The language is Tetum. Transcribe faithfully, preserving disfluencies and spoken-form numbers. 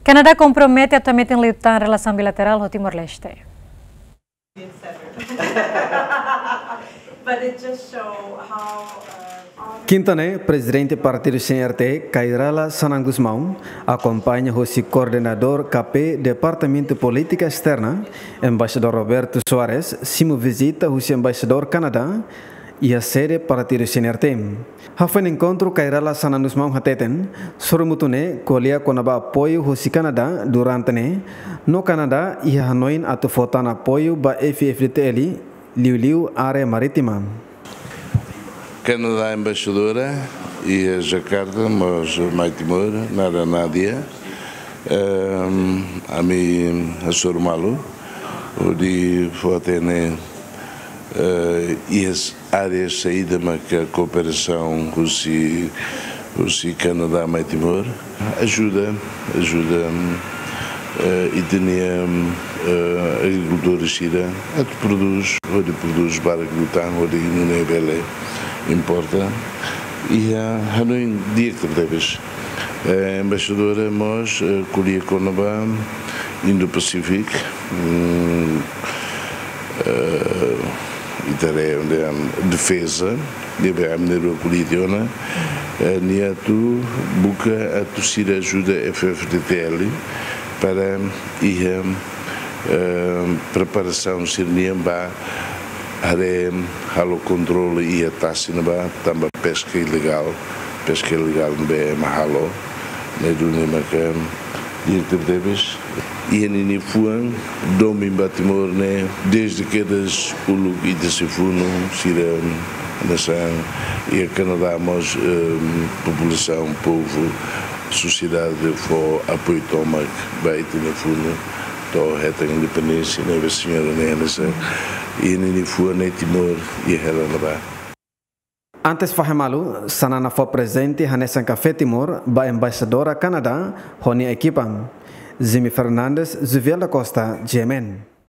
Kanadá kompromete atu hametin liután relasaun bilaterál ho Timor-Leste. But it just show how, uh, Kinta ne'e, Prezidente Partidu C N R T, Kay Rala Xanana Gusmão, akompaña husi Koordenadór K P Departamentu Polítika Esterna, Embaixadór Roberto Soares, simu vizita husi Embaixadór Kanadá iha sede Partidu C N R T. Hafoin enkontru, Kay Rala Xanana Gusmão hateten, sorumutu ne'e ko'alia kona-ba apoiu husi Kanadá durante ne'e, no Kanadá iha hanoin atu fó tan apoiu ba F F D T L, liuliu área marítima. Kanadá embaixadora iha Jakarta, mós mai Timor, Nara Nadia. Ehm, ami hasoru malu hodi fó hatene, eh, iha área saida maka kooperasaun husi, husi Kanadá mai Timor. Ajuda, ajuda, eh, ita-nia, eh, agrikultór sira atu prodús, hodi prodús barak liután, hodi nune'e bele importa. Iha hanoin di'ak tebes. Eh, embaixadora mós, eh, ko'alia kona-ba Indo-Pacific, mm, eh, ita haree, defeza, ne'ebé ami-nia rua ko'alia tiha ona, eh, nia atu buka atu sira ajuda F F D T L para iha, eh, preparasaun sira-nian ba haree halo kontrolu iha tasi ne'ebá, tanba peska ilegál, peska ilegál ne'ebé ema halo, ne'e duni maka di'ak tebetebes. Iha ninia fuan, domin ba Timor ne'e, dezde kedas uluk ita sei funu, sira hanesan, iha Kanadá mós, eh, populasaun, povu, sosiedade fó apoiu tomak ba ita-nia funu to'o hetan independénsia, ne'ebé señora ne'e hanesan, iha ninia fuan ne'e Timor iha hela ne'ebá. Antes fahe malu, Xanana fó prezente hanesan kafé Timor ba Embaixadora Kanadá ho nia ekipa. Jimmy Fernandes, Juviel da Costa, G M N.